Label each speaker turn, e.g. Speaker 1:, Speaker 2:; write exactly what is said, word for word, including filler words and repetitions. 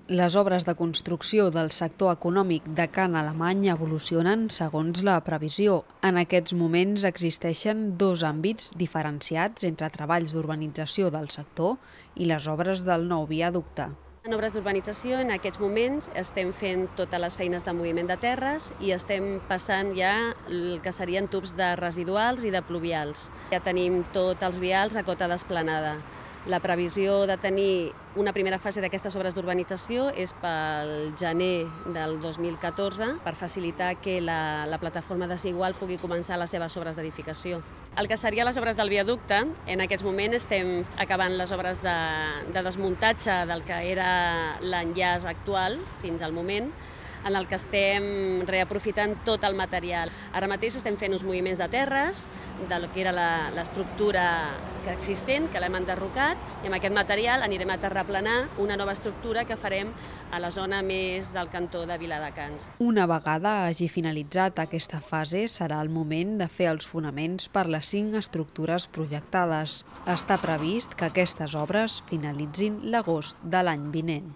Speaker 1: Les obres de construcció del sector econòmic de Can Alemany evolucionen segons la previsió. En aquests moments existeixen dos àmbits diferenciats entre treballs d'urbanització del sector i les obres del nou viaducte.
Speaker 2: En obres d'urbanització, en aquests moments, estem fent totes les feines de moviment de terres i estem passant ja el que serien tubs de residuals i de pluvials. Ja tenim tots els vials a cota d'esplanada. La previsió de tenir una primera fase d'aquestes obres d'urbanització és pel gener del dos mil catorze, per facilitar que la, la plataforma Desigual pugui començar les seves obres d'edificació. El que serien les obres del viaducte, en aquests moments estem acabant les obres de, de desmuntatge del que era l'enllaç actual fins al moment, en el que estem reaprofitant tot el material. Ara mateix estem fent uns moviments de terres, del que era l'estructura existent, que l'hem enderrocat, i amb aquest material anirem a terraplanar una nova estructura que farem a la zona més del cantó de Viladecans.
Speaker 1: Una vegada hagi finalitzat aquesta fase, serà el moment de fer els fonaments per les cinc estructures projectades. Està previst que aquestes obres finalitzin l'agost de l'any vinent.